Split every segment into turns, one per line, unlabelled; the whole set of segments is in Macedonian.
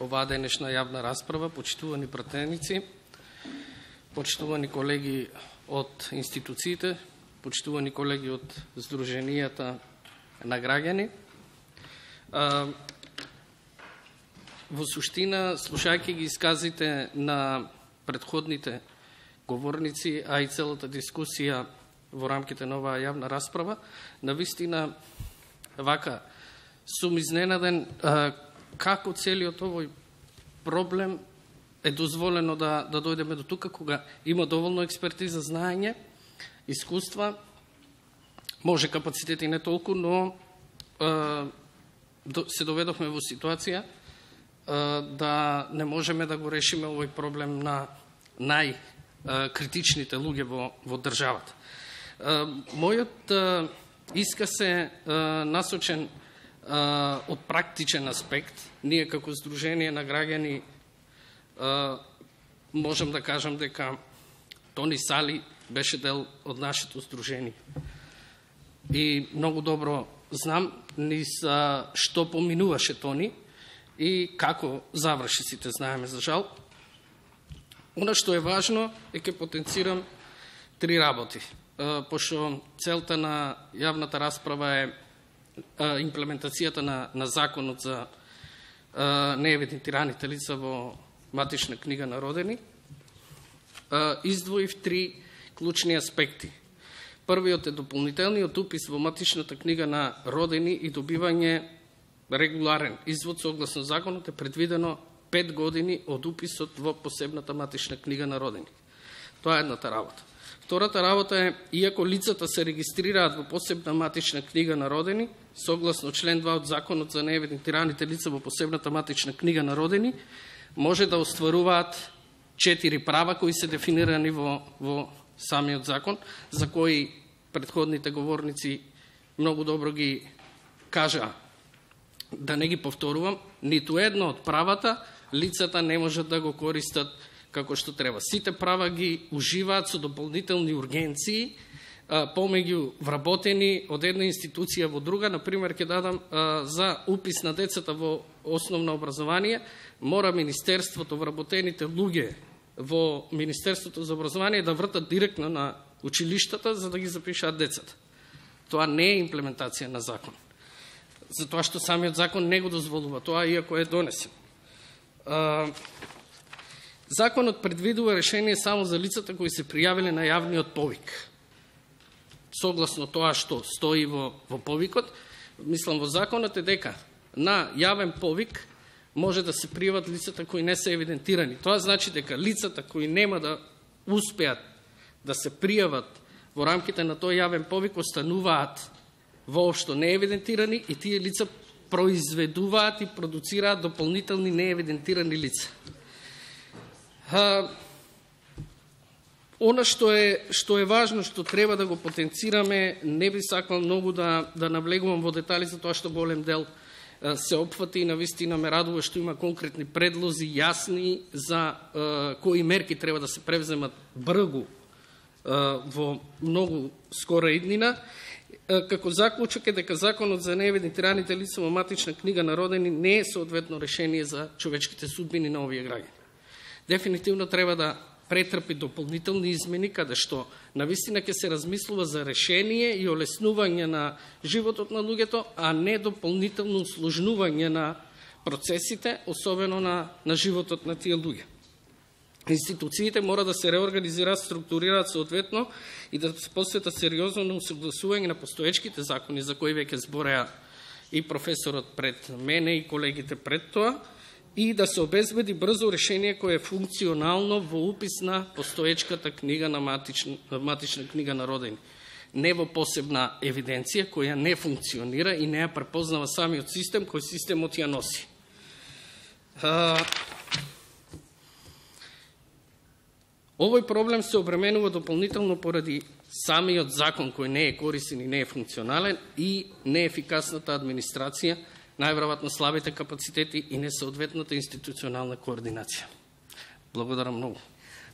оваа денешна јавна расправа, почитувани пратеници, почитувани колеги од институциите, почитувани колеги од Сдруженијата на граѓани. Во суштина, слушајќи ги исказите на предходните говорници, а и целата дискусија во рамките на оваа јавна расправа, навистина вака сум изненаден како целиот овој проблем е дозволено да дојдеме до тука, кога има доволно експертиза, знаење, искуства, може капацитети не толку, но се доведовме во ситуација да не можеме да го решиме овој проблем на најкритичните луѓе во државата. Мојот исказ е насочен од практичен аспект. Ние како Сдружение на граѓани можам да кажам дека Тони Сали беше дел од нашето Сдружение. И многу добро знам низ што поминуваше Тони и како заврши, сите знаеме за жал. Она што е важно е ке потенцирам 3 работи. Пошто целта на јавната расправа е имплементацијата на законот за неевидентираните лица во матична книга на родени, издвоив 3 клучни аспекти. Првиот е дополнителниот упис во матичната книга на родени и добивање регуларен извод согласно законот е предвидено 5 години од уписот во посебната матична книга на родени. Тоа е едната работа. Втората работа е, иако лицата се регистрираат во посебна матична книга на родени, согласно член 2 од Законот за неевидентираните лица во посебната матична книга на родени, може да остваруваат 4 права кои се дефинирани во самиот закон, за кои предходните говорници многу добро ги кажа. Да не ги повторувам, ниту едно од правата лицата не можат да го користат како што треба. Сите права ги уживаат со дополнителни ургенции, помеѓу вработени од една институција во друга. Например, ќе дадам за упис на децата во основно образование, мора Министерството, вработените луѓе во Министерството за образование да вртат директно на училиштата за да ги запишаат децата. Тоа не е имплементација на закон. Затоа што самиот закон не го дозволува тоа, иако е донесен. Законот предвидува решение само за лицата кои се пријавиле на јавниот повик. Согласно тоа што стои во повикот, мислам во законот е дека на јавен повик може да се пријават лицата кои не се евидентирани. Тоа значи дека лицата кои нема да успеат да се пријават во рамките на тој јавен повик остануваат воопшто неевидентирани и тие лица произведуваат и продуцираат дополнителни неевидентирани лица. Она што е важно, што треба да го потенцираме, не би сакал многу да навлегувам во детали, за тоа што голем дел се опфати и навистина ме радува што има конкретни предлози, јасни, за кои мерки треба да се превземат бргу во многу скора иднина. Како заклучок е дека законот за неевидентираните лица во матична книга на родени не е соодветно решение за човечките судбини на овие граѓани. Дефинитивно треба да претрпи дополнителни измени, каде што навистина ќе се размислува за решение и олеснување на животот на луѓето, а не дополнително усложнување на процесите, особено на животот на тие луѓе. Институциите мора да се реорганизираат, структурираат соодветно и да се посветат сериозно на усогласување на постоечките закони, за кои веќе збореа и професорот пред мене и колегите пред тоа, и да се обезбеди брзо решение кое е функционално во упис на постоечката книга на матична книга на родени. Не во посебна евиденција која не функционира и не ја препознава самиот систем, кој системот ја носи. Овој проблем се обременува дополнително поради самиот закон кој не е корисен и не е функционален и неефикасната администрација, најверојатно слабите капацитети и несоодветната институционална координација. Благодарам многу.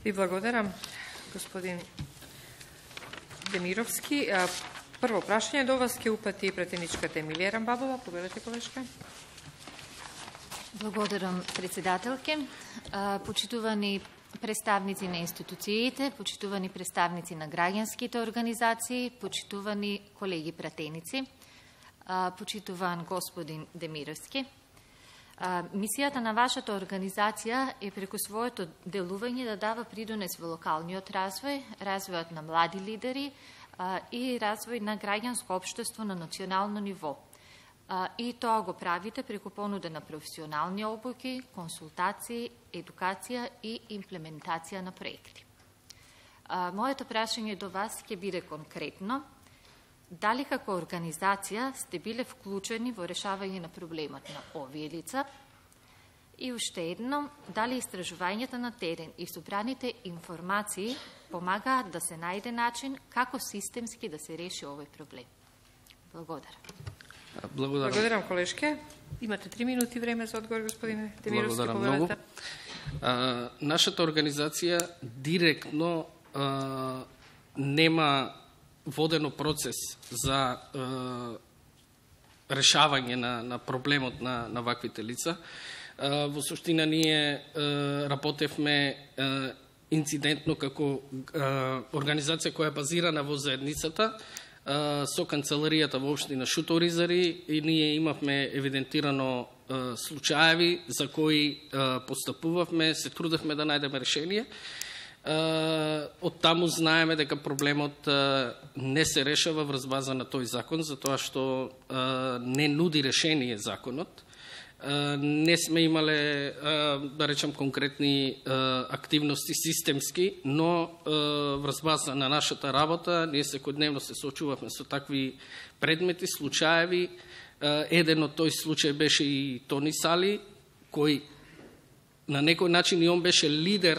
Ви благодарам, господин Демировски. Прво прашање до вас ќе упати претеничката Емилија Рамбабова. Победете, колешка.
Благодарам, председателке. Почитувани представници на институциите, почитувани представници на граѓанските организации, почитувани колеги пратеници, почитуван господин Демировски. Мисијата на вашата организација е преку своето делување да дава придонес во локалниот развој, развојот на млади лидери и развој на граѓанско општество на национално ниво. И тоа го правите преку понуда на професионални обуки, консултации, едукација и имплементација на проекти. Моето прашање до вас ќе биде конкретно. Дали како организација сте биле вклучени во решавање на проблемот на овие лица? И уште едно, дали истражувањата на терен и собраните информации помагаат да се најде начин како системски да се реши овој проблем? Благодарам.
Благодарам, колешке. Имате 3 минути време за одговор, господине Демировски.
Благодарам многу. Нашата организација директно нема водено процес за решавање на проблемот на ваквите лица. Во суштина ние работевме инцидентно како организација која е базирана во заедницата со канцеларијата во општина Шуторизари и ние имавме евидентирано случаеви за кои постапувавме, се трудевме да најдеме решение. Од таму знаеме дека проблемот не се решава врз база на тој закон, затоа што не нуди решение законот. Не сме имале, да речем, конкретни активности системски, но врз база на нашата работа ние секојдневно се соочувавме со такви предмети, случаеви. Еден од тој случај беше и Тони Сали, кој на некој начин и он беше лидер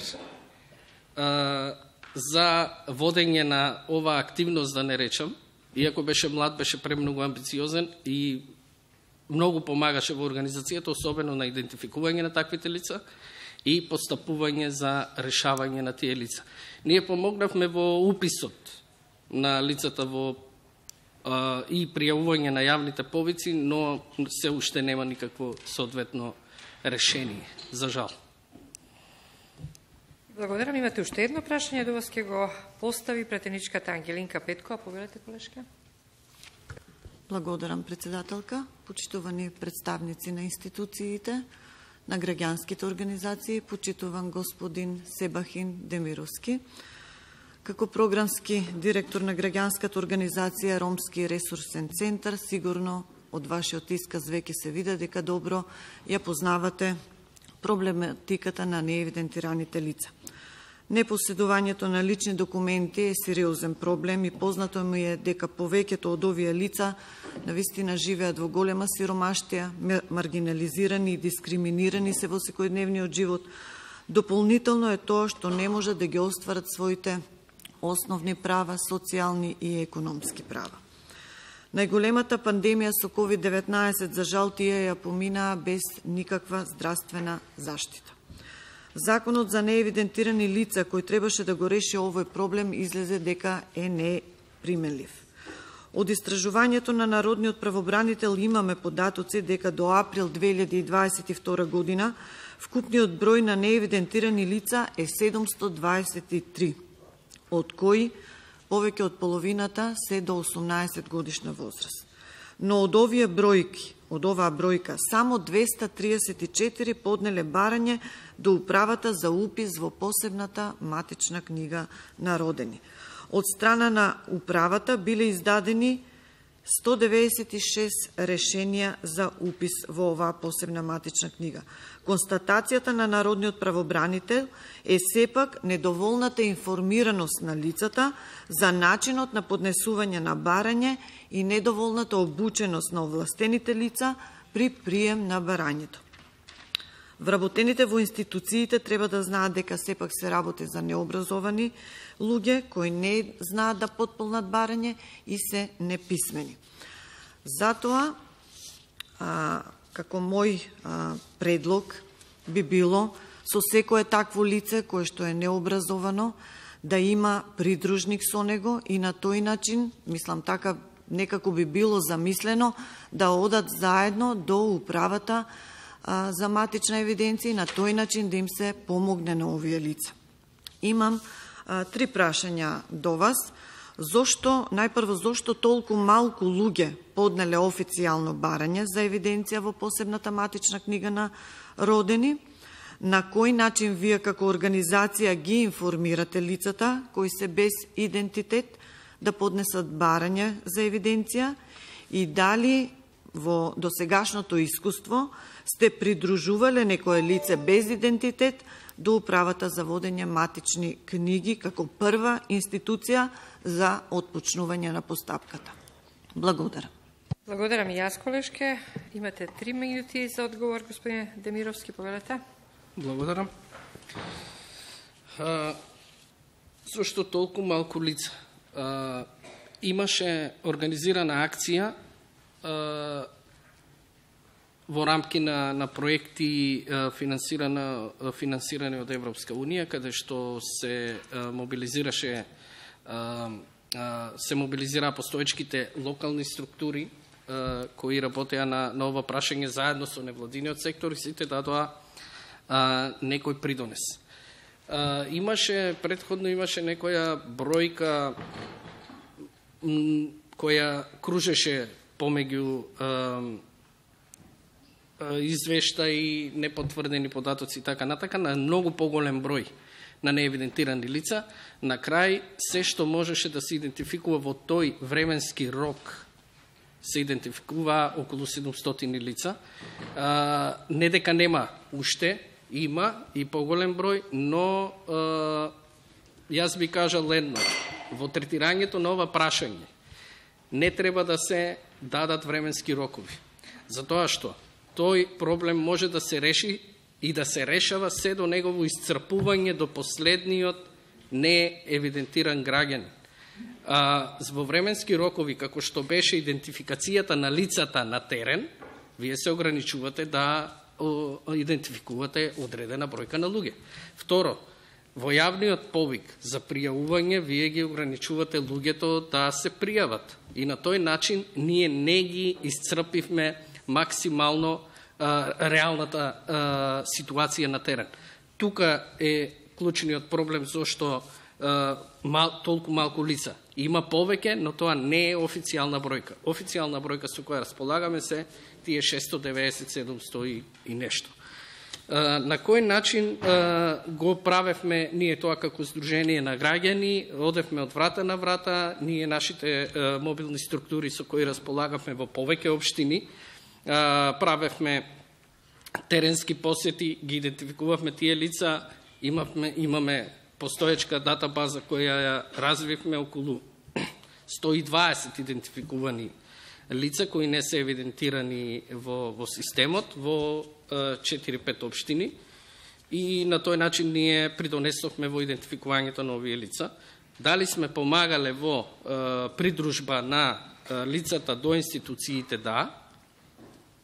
за водење на оваа активност, да не речам. Иако беше млад, беше премногу амбициозен и многу помагаше во организацијата, особено на идентификување на таквите лица и постапување за решавање на тие лица. Ние помогнавме во уписот на лицата и пријавување на јавните повици, но се уште нема никакво соодветно решение, за жал.
Благодарам. Имате уште едно прашање, до вас ќе го постави пратеничката Ангелинка Петкова. Повелете, колешка.
Благодарам, председателка, почитувани представници на институциите, на граѓанските организации, почитуван господин Себахин Демировски. Како програмски директор на граѓанската организација Ромски ресурсен центар, сигурно од вашиот исказ веќе се види дека добро ја познавате проблематиката на неевидентираните лица. Непоседувањето на лични документи е сериозен проблем и познато ми е дека повеќето од овие лица навистина живеат во голема сиромаштија, маргинализирани и дискриминирани се во секојдневниот живот. Дополнително е тоа што не можат да ги остварат своите основни права, социјални и економски права. Најголемата пандемија со COVID-19 за жал тие ја поминаа без никаква здравствена заштита. Законот за неевидентирани лица кој требаше да го реши овој проблем излезе дека е неприменлив. Од истражувањето на Народниот правобранител имаме податоци дека до април 2022 година вкупниот број на неевидентирани лица е 723, од кои повеќе од половината се до 18 годишна возраст. Но од оваа бројка, само 234 поднеле барање до управата за упис во посебната матична книга на родени. Од страна на управата биле издадени 196 решенија за упис во оваа посебна матична книга. Констатацијата на Народниот правобранител е сепак недоволната информираност на лицата за начинот на поднесување на барање и недоволната обученост на овластените лица при прием на барањето. Вработените во институциите треба да знаат дека сепак се работи за необразовани луѓе кои не знаат да потполнат барање и се неписмени. Затоа, како мој предлог би било со секое такво лице кое што е необразовано да има придружник со него и на тој начин, мислам така некако би било замислено, да одат заедно до управата за матична евиденција и на тој начин да им се помогне на овие лица. Имам 3 прашања до вас. Најпрво, зошто толку малку луѓе поднеле официјално барање за евиденција во посебната матична книга на родени? На кој начин вие како организација ги информирате лицата кои се без идентитет да поднесат барање за евиденција и дали во досегашното искуство сте придружувале некое лице без идентитет до управата за водење матични книги како прва институција за отпочнување на постапката? Благодарам.
Благодарам и јас, колешке. Имате 3 минути за одговор, господин Демировски, повелете.
Благодарам. Зошто толку малку лица? Имаше организирана акција во рамки на проекти финансирани од Европска Унија, каде што се мобилизира постоечките локални структури кои работеа на ова прашање заедно со невладиниот сектор и сите дадоа некој придонес. Предходно имаше некоја бројка која кружеше помеѓу извештаи, непотврдени податоци и така натака, на многу поголем број на неевидентирани лица. На крај, се што можеше да се идентификува во тој временски рок, се идентификува околу 700 лица. Не дека нема уште, има и поголем број, но јас би кажал едно. Во третирањето на ова прашање не треба да се дадат временски рокови. Затоа што тој проблем може да се реши и да се решава се до негово исцрпување до последниот неевидентиран граѓанин. Во временски рокови, како што беше идентификацијата на лицата на терен, вие се ограничувате да идентификувате одредена бројка на луѓе. Второ, во јавниот повик за пријавување, вие ги ограничувате луѓето да се пријават. И на тој начин ние не ги исцрпивме максимално реалната ситуација на терен. Тука е клучниот проблем зашто толку малку лица. Има повеќе, но тоа не е официјална бројка. Официјална бројка со која располагаме се тие 690-700 и нешто. На кој начин го правевме ние тоа како Сдружение на граѓани? Одевме од врата на врата, ние нашите мобилни структури со кои располагавме во повеќе општини, правевме теренски посети, ги идентификувавме тие лица, имаме постоечка датабаза која ја развивме, околу 120 идентификувани лица кои не се евидентирани во системот во 4-5 општини и на тој начин ние придонесовме во идентификувањето на овие лица. Дали сме помагале во придружба на лицата до институциите? Да.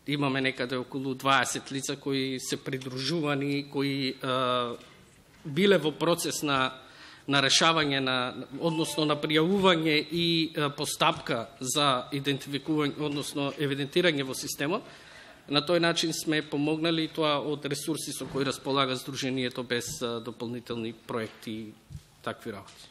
Имаме некаде околу 20 лица кои се придружувани, кои биле во процес на решавање, односно на пријавување и постапка за идентификување, односно евидентирање во системот. На тој начин сме помогнали тоа од ресурси со кои располага Сдруженијето без дополнителни проекти и такви работи.